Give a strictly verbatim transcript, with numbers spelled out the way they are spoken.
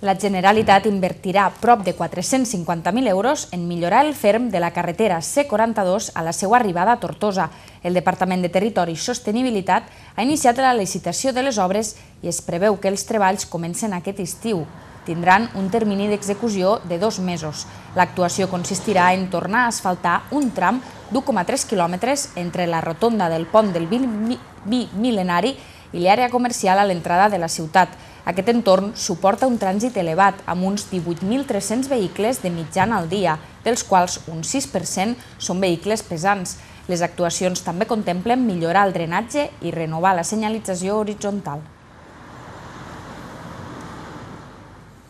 La Generalitat invertirà prop de quatre-cents cinquanta mil euros en millorar el ferm de la carretera C quaranta-dos a la seva arribada a Tortosa. El Departament de Territori i Sostenibilitat ha iniciat la licitació de les obres i es preveu que els treballs comencen aquest estiu. Tindran un termini d'execució de dos mesos. L'actuació consistirà en tornar a asfaltar un tram d'u coma tres quilòmetres entre la rotonda del pont del Bimil·lenari i l'àrea comercial a l'entrada de la ciutat. Aquest entorn suporta un trànsit elevat, amb uns divuit mil tres-cents vehicles de mitjana al dia, dels quals un sis per cent són vehicles pesants. Les actuacions també contemplen millorar el drenatge i renovar la senyalització horitzontal.